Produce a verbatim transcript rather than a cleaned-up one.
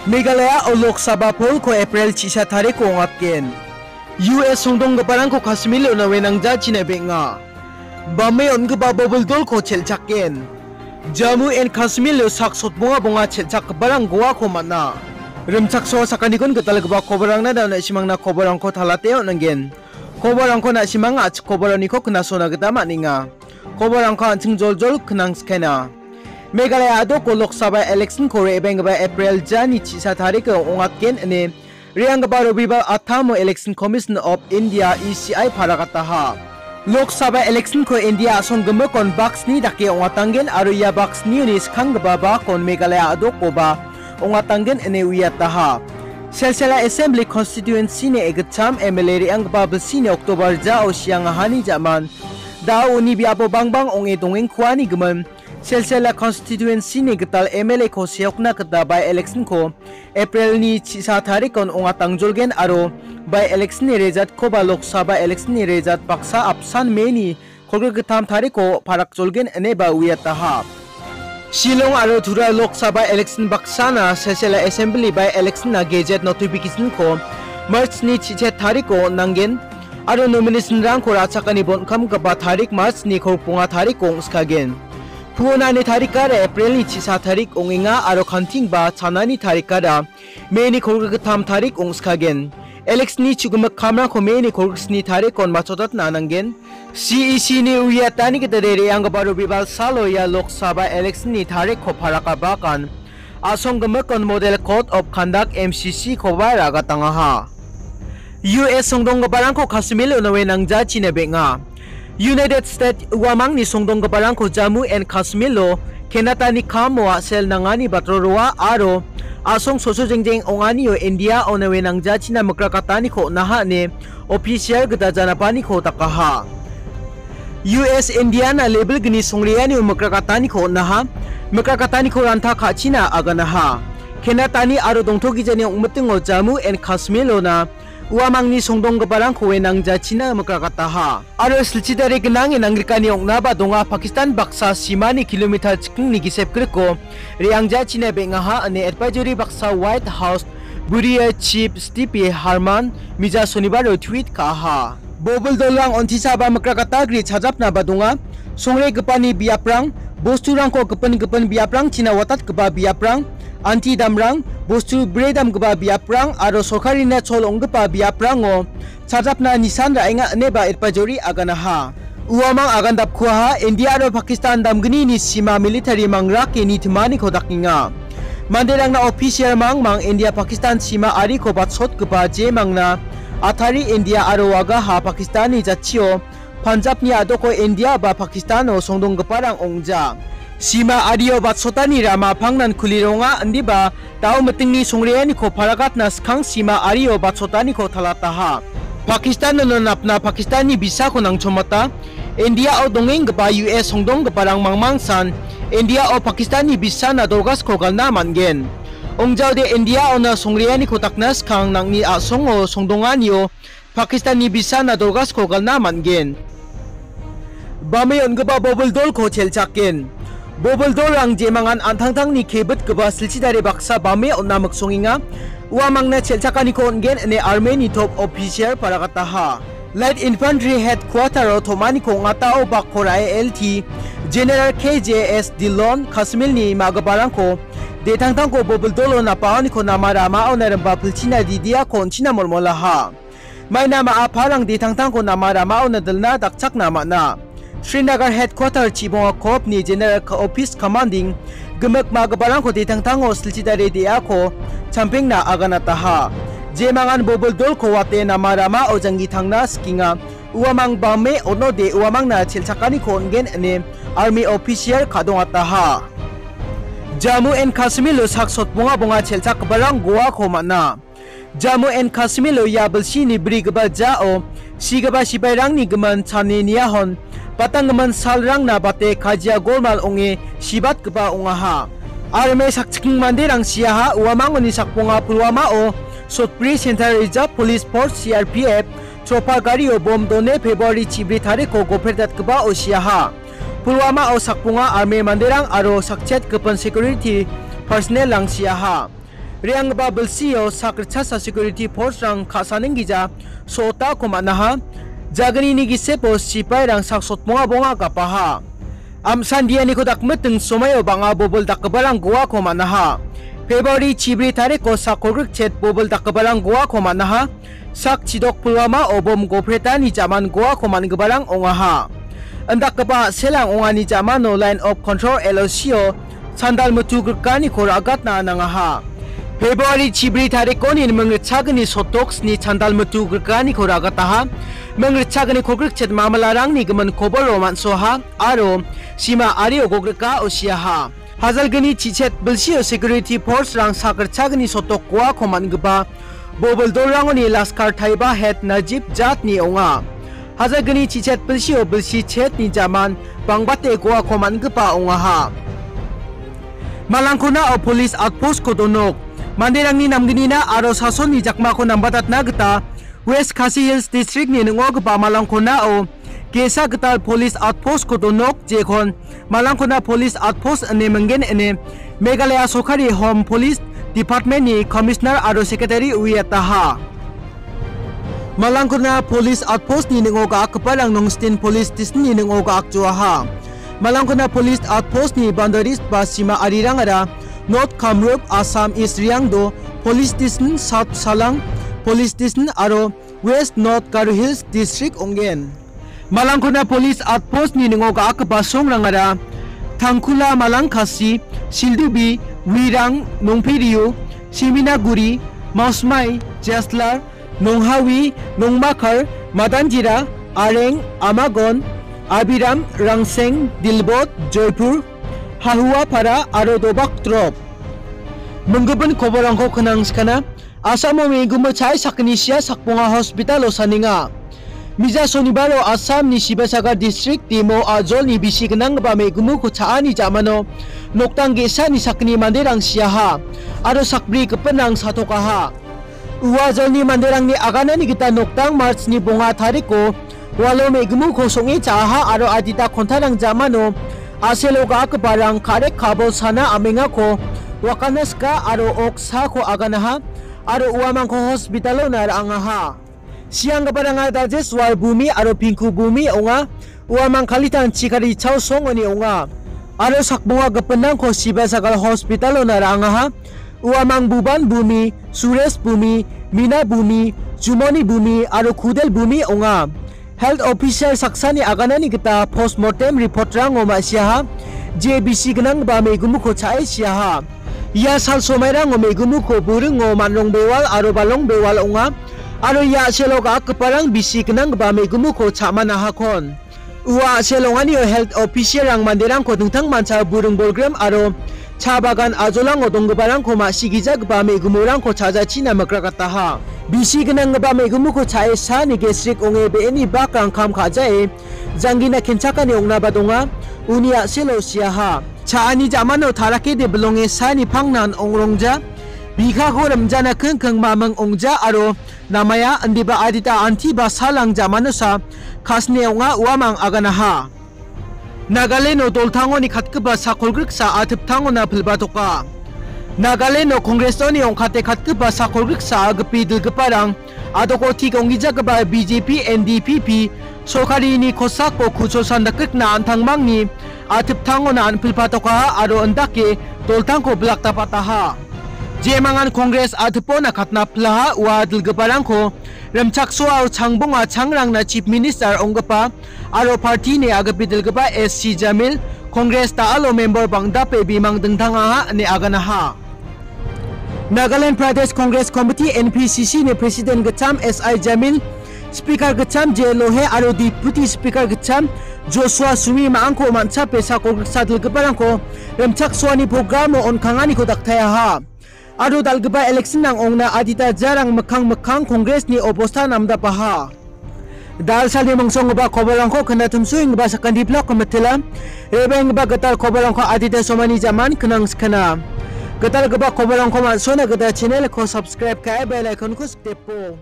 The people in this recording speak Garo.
Meghalaya-o Lok Sabha poll-ko April chisa tariko ong·atgen. U S songdonggiparangko Kashmir-o naue nangjachina beng·a. Bame on·gipa bobil dolko chelchakgen. Jammu and Kashmir-o sak sotbonga bonga chelchakgiparang Goa-ko man·a. Rimchaksoa sakanikon gitalgipa koborangna da on·a, simangna koborangko talate on·angen. Koborangko na·simang a·chik koboroniko knasona gita man·enga. Koborangko an·ching joljol knangskaina. Meghalaya a·doko Lok Sabha election-ko re·baenggipa April jani chisa tariko ong·atgen ine re·anggipa Robibar attamo Election Commission of India, E C I, paragataha. Lok Sabha election-ko India a·song gimikon bak sni dake ong·atanggen aro ia bak snioni skanggipa bakon Meghalaya a·dokoba ong·atanggen ine uiataha. Silsila Assembly Constituency-ni egitcham M L A re·anggipa bilsini October jao siangahani ja·man da·o uni biapo bangbang ong·e dongengkuani gimin Silsila Constituency-ni gital M L A-ko seokna gita by election-ko April-ni chisa tarikon ong·atangjolgen aro by election-ni result-koba Lok Sabha election-ni result baksa apsan May-ni kolgrik gittam tariko parakjolgen ineba uiataha. Shillong aro Tura Lok Sabha election baksana Silsila Assembly by election-na gazette notification-ko March-ni chichet tariko on·angen aro nomination-rangko ra·chakani bon·kamgipa tarik March-ni kolgrikonga tariko ong·skagen. Puonani tarikara April-ni chisa tarik ong·enga aro kantingba chanani tarikara May-ni kolgrik gittam tarik ong·skagen. Election-ni chu·gimik kamrangko May-ni kolgrik sni tarikon matchotatna nanggen. C E C-ni uiatani gita re·anggipa Robibar salo ia Lok Sabha election-ni tarikko parakabakan a·song gimikon Model Code of Conduct, M C C-koba ra·gatangaha. U S songdonggiparangko Kashmir-o naue nangjachina beng·a. United States uamangni songdonggiparangko Jammu and Kashmir-o Kenatani kamo a·sel nangani batro roa aro a·song soso jengjeng ong·anio India-o naue nangjachina mikrakataniko on·aha ine official gita janapaniko dakaha. U S India-na level gni songreanio mikrakataniko on·aha, mikrakataniko ranta ka·china aganaha. Kenatani aro dongtogijani ong·mitingo Jammu and Kashmir-ona uamangni songdonggiparangkoe nangjachina mikrakataha. Aro silchidare gnange nangrikani ong·naba donga, Pakistan baksa simani kilometer chikingni gisep griko re·angjachina beng·aha ine advisory baksa White House Bureau Chief Steve Herman mija sonibaro tweet ka·aha. Bobil dolrang ontisaba mikrakata gri chajapnaba donga. Songregipani biaprang, bosturangko gipin gipin biaprangchina watatgipa biaprang, anti damrang, bostu bredamgipa biaprang aro sorkarina chol ong·gipa biaprango chajapna nisan ra·enga ineba advisory aganaha. Uamang agandapkuaha, India aro Pakistan damgnini sima military mangrake nitimani kodakenga. Manderangna official mangmang India Pakistan sima ariko batsotgipa jemangna Athari India aro Wagaha Pakistanni jatchio Punjabni a·doko India ba Pakistano songdonggiparang ong·ja. Sima ario batsotani rama pangnan kulironga indiba dao mitingni songreaniko paragatna skang sima ario batsotaniko talataha. Pakistano napna Pakistanni bisako nangchomata. India-o dongenggipa U S songdonggiparang mangmangsan India-o Pakistanni bisana dorgasko galna man·gen. Ongjaode India-ona songreaniko dakna skang nang·ni a·songo songdonganio Pakistanni bisana dorgasko galna man·gen. Bame on·gipa bobil dolko chelchakgen. Bobil dolrang jemangan an·tangtangni kebitgipa silchidare baksa bame on·na miksongenga. Uamangna chelchakaniko on·gen ine armeni top official paragataha. Light Infantry Headquarter-o tom·aniko ong·atao bakko ra·e L T General K J S Dhillon Kashmir-ni ma·giparangko detangtangko bobil dolo napaoniko nama ramaona rimba pilchina didiako on·china molmolaha. Maina ma·a parang detangtangko nama ramaona dilna dakchakna man·a. Srinagar Headquarter Chibonga Corps-ni General Ka-, Office Commanding gimik ma·giparangko detangtango silchidare de·ako champengna aganataha. Jemangan bobil dolko wate nama ramao janggi tangna sikenga. Uamang bame on·ode uamangna chelchakaniko on·gen ine army official ka·dongataha. Jammu and Kashmir-o sak sotbonga bonga chelchakgiparang Goa-ko man·a. Jammu and Kashmir-o ia bilsini brigipa jao sigipa sipairangni gimin chani niahon batanggimin salrangna bate kajia golmal ong·e sibatgipa ong·aha. Army sakchikking manderang siaha, uamangoni sakbonga Pulwama-o Sotpuri Central Reserve Police Force, C R P F, chopar gario bom done February chibri tariko goperdatgipao siaha. Pulwama-o sakbonga army manderang aro sakchet gipin security personnel-rang siaha. Re·anggipa bilsio sak ritchasa security force-rang ka·saning gija so·otako man·aha. Jagnini gisepo sipairang sak sotbonga bonga gapaha. Amsan dianiko dakmiting somaio bang·a bobil dakgiparang goako man·aha. February chibri tariko sak kolgrikchet bobil dakgiparang goako man·aha. Sak chidok Pulwama obom gopretani jaman goako man·giparang ong·aha. Indakgipa a·selang ong·ani jamano Line of Control, L O C-o sandal mitu grikaniko ra·gatna nangaha. February chibri tarikoni ming ritchagni sotok sni sandal mitu grikaniko ra·gataha. Ming ritchagni kolgrikchet mamalarangni gimin koboro man·soaha aro sima ario gogrika osiaha. Hajalgni chichet bilsio security force-rang sak ritchagni sotok goako man·gipa bobil dolrangoni Laskar Taiba head Najib Jatni ong·a. Hajalgni chichet bilsio bilsi chetni jaman bangbate goako man·gipa ong·aha. Malangkonao police outpost-ko donok. Manderangni namgnina aro sasonni jakmako nambatatna gita West Khasi Hills District-ni ning·ogipa Malangkonao ge·sa gital police outpost-ko donok, jekon Malangkona Police Outpost ine minggen ine Meghalaya Sorkari Home Police Department-ni Commissioner aro Secretary uiataha. Malangkona Police Outpost-ni ning·o ga·akgiparang Nongstin Police Station-ni ning·o ga·akjoaha. Malangkona Police Outpost-ni boundaries ba sima arirangara North Kamrup, Assam East Riangdo Police Station, South Salang Police Station aro West North Garo Hills District ong·gen. Malangkona Police Outpost-ni ning·o ga·akgipa songrangara Tangkula, Malangkasi, Sildubi, Wirang, Nongperio, Siminaguri, Mausmai, Jaslar, Nonghawi, Nongmakar, Madanjira, Areng, Amagon, Abiram, Rangseng, Dilbot, Joypur, Hahuapara aro Dobak Drop. Minggipin koborangko knang skana. Asamo me·gumo cha·e sakgni sia sakbonga hospital-o saninga. Mija Sonibaro Assamni Sivasagar District-o ajolni bisi gnanggipa me·gumuko cha·ani ja·mano noktang ge·sani sakgni manderang siaha aro sakbri gipinrang satokaha. Ua ajolni manderangni aganani gita noktang March-ni bonga tariko walo me·gumuko song·e cha·aha aro adita kontarang ja·mano a·selo ga·akgiparang karek kabol sana am·engako wakana sika aro oksako aganaha aro uamangko hospital-ona ra·angaha. Sianggiparanga Dajeswar Bumi aro Pinku Bumi ong·a. Uamang Kalitang Chikari Chao songoni ong·a. Aro sakbonga gipinrangko Sivasagar hospital-ona ra·angaha. Uamang Buban Bumi, Suresh Bumi, Mina Bumi, Jumoni Bumi aro Kudel Bumi ong·a. Health officer saksani aganani gita postmortem report-rango ma·siaha, je bisi gnanggipa me·gumuko cha·e siaha. Ia sal somairango me·gumuko buringo man·rong bewal aro balong bewal ong·a, aro ia a·selo ga·akgiparang bisi gnanggipa me·gumuko cha·manahakon. Ua a·sel ong·anio health officer-rang manderangko dingtangmancha buring bolgrim aro cha bagan ajolango donggiparangko ma·sigijagipa me·gumorangko cha·jachina mikrakataha. Bisi gnanggipa me·gumuko cha·e saani gesrik ong·e be·eni bakrang kam ka·jae janggina kenchakani ong·naba donga, uni a·selo siaha. Cha·ani ja·mano tarakede bilonge saani pangnan ong·rongja, bikako rimjana kingking maming ong·ja aro namaya indiba adita anti ba salang ja·manosa kasne ong·a uamang aganaha. Nagaleno doltangoni katgipa sakolgriksa atiptangona pilbatoka. Nagaleno Congressoni ong·kate katgipa sakolgriksa agipi dilgiparang adoko tik ong·gijagipa B J P, N D P P sorkarini kosako kuchol sandakrikna an·tangmangni atiptangona an·pilpatokaha aro indake doltangko bilak dapataha. Jemangan Congress atipona katna pilaha ua dilgiparangko rimchaksoao changbonga changrangna Chief Minister ong·gipa aro party-ni agipi dilgipa S C Jamil Congress da·alo member bang·dape bimang dingtangaha ine aganaha. Nagaland Pradesh Congress Committee, N P C C-ni President gitcham S I Jamil, Speaker gitcham J Lohe aro Deputy Speaker gitcham Joshua Sumi ma·angko man·chape sakolgriksa dilgiparangko rimchaksoani programo on·kanganiko daktayaha. Aro dal·gipa election-rang ong·na adita jarang mikkang mikkang Congress-ni obosta namdapaha. Dalsalni mongsonggipa kobolrangko knatimsuenggipa sakanti blok komitila rebenggipa gital kobolrangko adita somani jaman knang skana. Gitalgipa kobolrangko man·sona gita channel-ko subscribe ka·e bell icon-ko sikdepo.